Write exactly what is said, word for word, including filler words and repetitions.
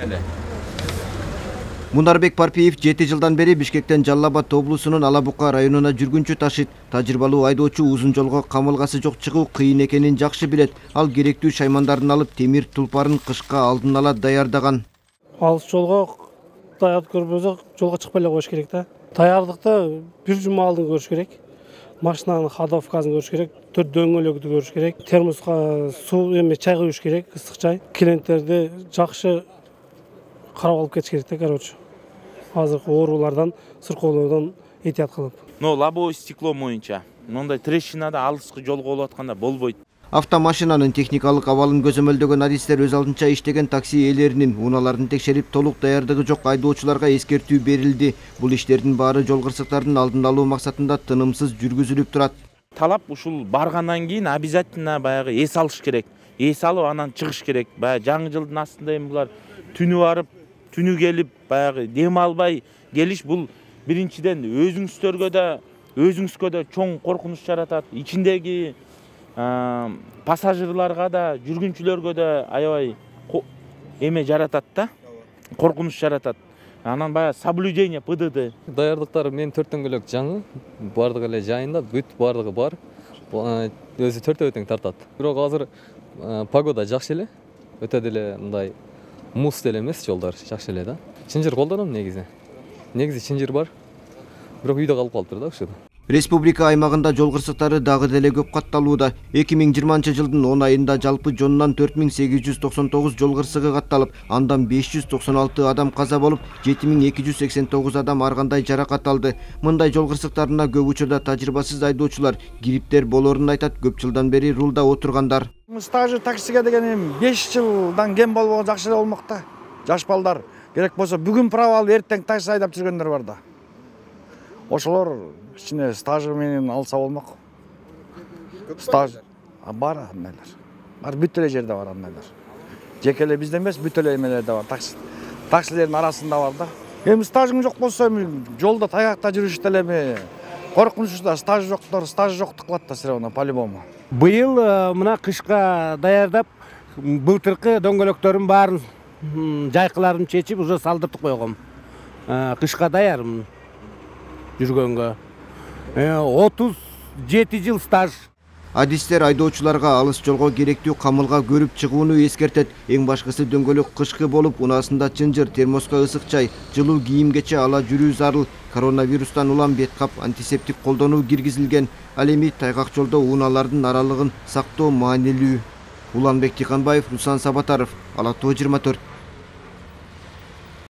эле. Мунарбек Парпиев жети жылдан бери Бишкектен Жалал Абад облусунун Ала Бука районуна жүргүнчү ташыйт. Тажрыйбалуу айдоочу узун жолго камылгасы жок чыгуу кыйын экенин жакшы билет. Ал керектүү шаймандарын алып, темир тулпарын кышка алдын ала даярдаган. Алыс жолго даярдык көрбөсөк, жолго чыкпай эле коюш керек да. Даярдыкты бир жума алдын көрүш керек. Машинанын ходовкасын көрүш керек, төрт дөңгөлөгү көрүш керек, термоска суу эме чай куюш керек, ысык чай. Клиенттерди жакшы карап алып кетиш керек да, короче. Азыркы оорулардан, сыркоолордон этият кылып. Но лобовое стекло боюнча мындай трещинада алыскы жолго болуп атканда болбойт. Автомашинанын техникалык абалын көзөмөлдөгөн адистер өз алдынча иштеген такси ээлеринин унааларын текшерип, толук даярдыгы жок айдоочуларга эскертүү берилди. Бул иштердин баары жол кырсыктардын алдын алуу максатында тынымсыз жүргүзүлүп турат. Талап ушул баргандан кийин обязательно баягы эс алыш керек. Эс алып анан чыгыш керек. Баягы жаңы жылдын астында эми булар түнү барып, түнү келип, баягы дем албай келиш бул биринчиден өзүңүздөргө да, өзүңүзгө да чоң коркунуч жаратат. Ичиндеги пассажирларга да, жүргүнчүлөргө да аябай эме жаратат да, коркунуч жаратат. Анан баягы соблюдение ПДД. Даярдыктар мен төрт дөңгөлөк жаңы, бардыгы эле жайында, бүт бардыгы бар. Өзү төртөө тең тартат. Бирок азыр погода жакшы эле, өтө деле мындай муз деле эмес, жолдор жакшы эле да. Чынжыр колдоном негизи. Негизи чынжыр бар. Бирок үйдө калып калыптыр да ушул. Республика аймагында жол кырсыктары дагы деле көп катталууда. эки миң жыйырманчы жылдын он айында жалпы жонунан төрт миң сегиз жүз токсон тогуз жол кырсыгы катталып, андан беш жүз токсон алты адам каза болуп, жети миң эки жүз сексен тогуз адам ар кандай жаракат алды. Мындай жол кырсыктарына көп учурда тажрыйбасыз айдоочулар кириптер болоорун айтат көп жылдан бери рулда отургандар. Стажы таксиге деген беш жылдан кем болбогон жакшы эле болмок да. Жаш балдар керек болсо бүгүн права алып эртең такси айдап жүргөндөр бар да. Ошолор ичине стажы менен алса болмок. Стаж бар андайлар. Бар бүт эле жерде бар андайлар. Жеке эле бизде эмес, бүт эле эмелерде бар. Такси таксилердин арасында бар да. Эми стажың жок болсо эми жолдо таякта жүрүш деле эми коркунучта стаж жоктор, стаж жоктук кылат да сирэ по-любому. Быйыл мына кышка даярдап, былтыркы дөңгөлөктөрүн баарын жайкыларын чечип, уже салдыртып койгом. Кышка даярмын жүргөнгө. отуз жети жыл стаж. Адистер айдоочуларга алыс жолго керектүү камылга көрүп чыгууну эскертет. Эң башкысы дөңгөлөк кышкы болуп, унаасында чынжыр, термоска ысык чай, жылуу кийимгече ала жүрүү зарыл. Коронавирустан улам бет кап, антисептик колдонуу киргизилген. Ал эми тайгак жолдо унаалардын аралыгын сактоо маанилүү. Уланбек Тиканбаев, Руслан Сабатаров, Ала Тоо жыйырма төрт.